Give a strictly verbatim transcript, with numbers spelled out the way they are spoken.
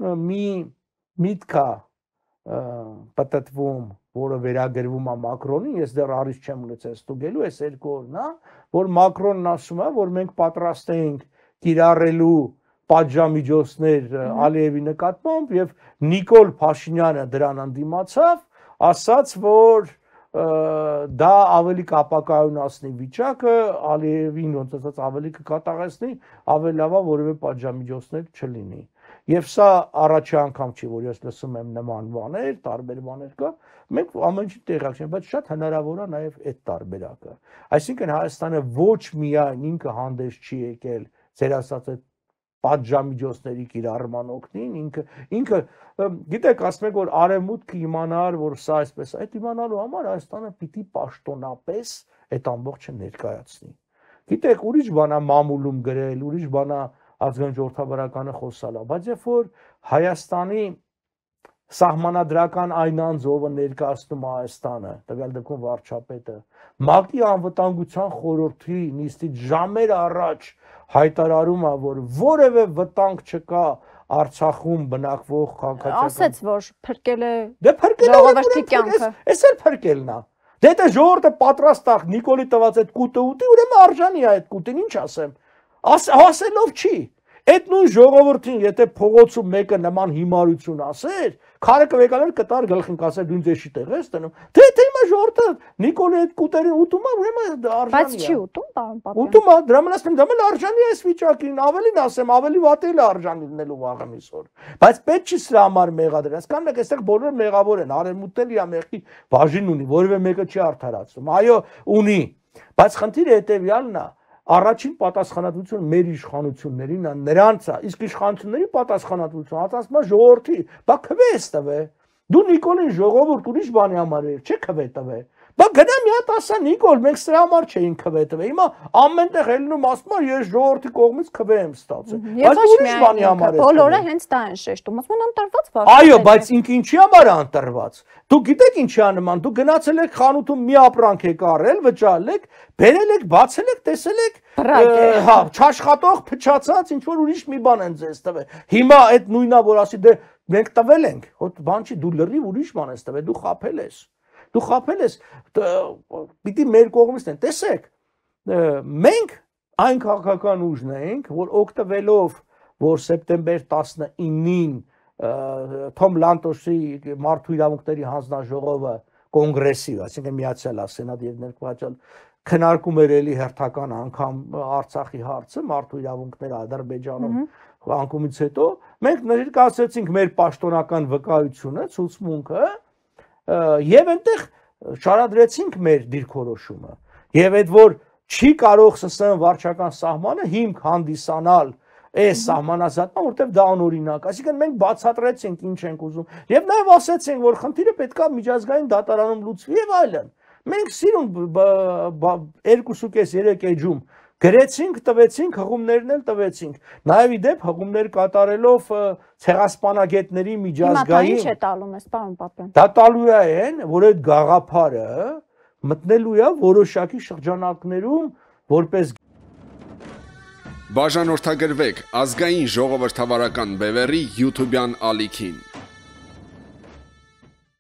մի միտք է պատտվում, որը վերագրվում է Մակրոնին, ես դեռ առիթ չեմ ունեցել ստուգելու, այս երկու օրն է, որ Մակրոնն ասում է, որ մենք պատրաստ ենք կիրառելու պատժամիջոցներ Ալիևի նկատմամբ եւ Նիկոլ Փաշինյանը դրան ընդդիմացավ, ասաց, որ դա ավելի կապակայունացնի վիճակը, Ալիևին ոնց ասած ավելի կկատաղեցնի, ավելի լավ է որևէ պատժամիջոցներ չլինի։ Եվ սա առաջի անգամ չի, որ ես լսում եմ նման բաներ, տարբեր բաներ կա, մենք ամեն ինչի տեղյակ չենք, բայց շատ հնարավոր է նաև այդ տարբերակը։ Այսինքն Հայաստանը ոչ միայն ինքը հանդես չի եկել, ձեր ասած այդ պատժամիջոցների կիրառման օգտին, ինքը ինքը գիտեք, ասում եք, որ արևմուտքը իմանար, որ սա այսպես, այդ իմանալու համար Հայաստանը պիտի պաշտոնապես այդ ամբողջը ներկայացնի։ Գիտեք, ուրիշ բան է մամուլում գրել, ուրիշ բան է ազգային ժողովրդավարականը խոսալա, բայց երբ որ Հայաստանի սահմանադրական այն անձը ներկայացնում է Հայաստանը, տվյալ դեպքում վարչապետը, ՄԱԿ-ի անվտանգության խորհրդի նիստից ժամեր առաջ հայտարարում է, որ որևէ վտանգ չկա Արցախում բնակվող քաղաքացիական։ Ասեց, որ փրկել է ժողովրդի կյանքը։ Էս էլ փրկելն է։ Դե դա ժողովուրդը պատրաստ է Նիկոլի տված այդ կուտը ուտի, ուրեմն արժանի է այդ կուտին, ինչ ասեմ։ Ասելով չի։ Այդ նույն ժողովրդին, եթե փողոցում մեկը նման հիմարություն ասեր, քարը կվեկալեր կտար գլխին կասեր դու ինձ էշի տեղ ես տնում։ Թե թե հիմա ժողովուրդը Նիկոլի այդ կուտերին ուտում է, ուրեմն արժանի է։ Բայց չի ուտում, պարոն Պապյան։ Ուտում է, դրա համար ասեմ, դա մել արժանի է այս վիճակին, ավելին ասեմ, ավելի վատ էլ արժանի լինելու վաղը միսօր։ Բայց պետք չի սրա համար մեղադրել։ Հասկանում եք, այստեղ բոլորը մեղավոր են, արևմուտքն էլ իր մեղքի բաժին ունի, որևէ մեկը չի արդարացնում։ Այո, ունի։ Բայց խնդիրը հետեւյալն է, առաջին պատասխանատվությունը մեր իշխանություններին է, նրանց է, իսկ իշխանությունների պատասխանատվությունը ասում է ժողովրդի, բա քվե ես տվե։ Դու Նիկոլին ժողովուրդ ուրիշ բանի համար էր, չէ քվե տվե։ Բա գնա մի հատ ասա Նիկոլ, մենք սրա համար չէին քվե տվե։ Հիմա ամենտեղ ելնում ասում է ես ժողովրդի կողմից քվե եմ ստացել։ Բայց ուրիշ բանի համար է։ Բոլորը հենց դա են շեշտում, ասում են ընտրված վարչապետ։ Այո, բայց ինքը ինչի համար է ընտրված։ Դուք գիտեք ինչի է նման, դուք գնացել եք խանութում մի ապրանք եք առել, վճարել եք, բերել եք, բացել եք, տեսել եք, հա, չաշխատող, փչացած, ինչ որ ուրիշ մի բան են ձեզ տվել։ Հիմա այդ նույնա որ ասի դե մենք տվել ենք, հոտ բան չի, դու լրիվ ուրիշ բան ես տվել, դու խաբել ես։ Դու խաբել ես, պիտի մեր կողմից են, տեսեք, մենք այն քաղաքական ուժն ենք, որ օգտվելով, որ սեպտեմբեր տասնինին Թոմ Լանտոսի մարդու իրավունքների հանձնաժողովը կոնգրեսի, այսինքն միացյալ սենատ եւ ներկայացել քննարկում էր էլի հերթական անգամ Արցախի հարցը, մարդու իրավունքները Ադրբեջանում անկումից հետո, մենք ներկայացրեցինք մեր պաշտոնական վկայությունը, ցուցմունքը, եւ այնտեղ շարադրեցինք մեր դիրքորոշումը։ Եվ այդ որ չի կարող ՍՍՀ վարչական սահմանը հիմք հանդիսանալ այս սահմանազատման, որտեղ դա անօրինակ, այսինքն մենք բացատրեցինք ինչ ենք ուզում եւ նաեւ ասացինք, որ խնդիրը պետքա միջազգային դատարանում լուծվի եւ այլն։ Մենք սիրուն երկուսուկես երեք էջում գրեցինք, տվեցինք, հղումներն էլ տվեցինք։ Նաեւ իդեպ հղումներ կատարելով ցեղասպանագետների միջազգային։ Ինչ է տալում ես, պարոն Պապյան։ Դա տալու է այն, որ այդ գաղափարը մտնելու է որոշակի շրջանակներում որպես Բաժանորդագրվեք ազգային ժողովրդավարական բևեռի YouTube-յան ալիքին։